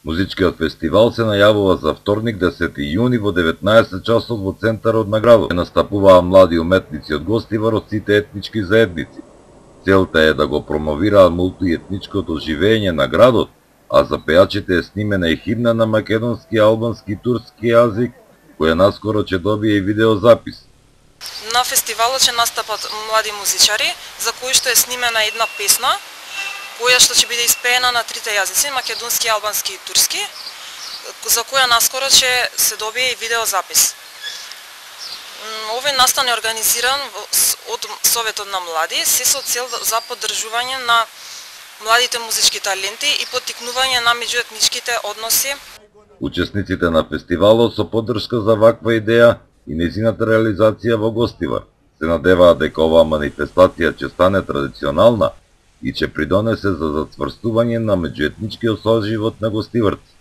Музичкиот фестивал се најавува за вторник 10 јуни во 19 часот во центарот на градот. Настапуваа млади уметници од Гостивар од сите етнички заедници. Целта е да го промовираат мултиетничкото живење на градот, а за пејачите е снимена и химна на македонски, албански и турски јазик, која наскоро ќе добие и видеозапис. На фестивалот ќе настапат млади музичари, за кои што е снимена една песна, која што ќе биде испеена на трите јазици, македонски, албански и турски, за која наскоро ќе се добие и видеозапис. Овој настан е организиран од Советот на млади, се со цел за поддржување на младите музички таленти и поттикнување на меѓуетничките односи. Учесниците на фестивалот со поддршка за ваква идеја и нејзината реализација во Гостивар се надеваат дека оваа манифестација ќе стане традиционална и ќе придонесе за зацврстување на меѓуетничкиот соживот на гостиварци.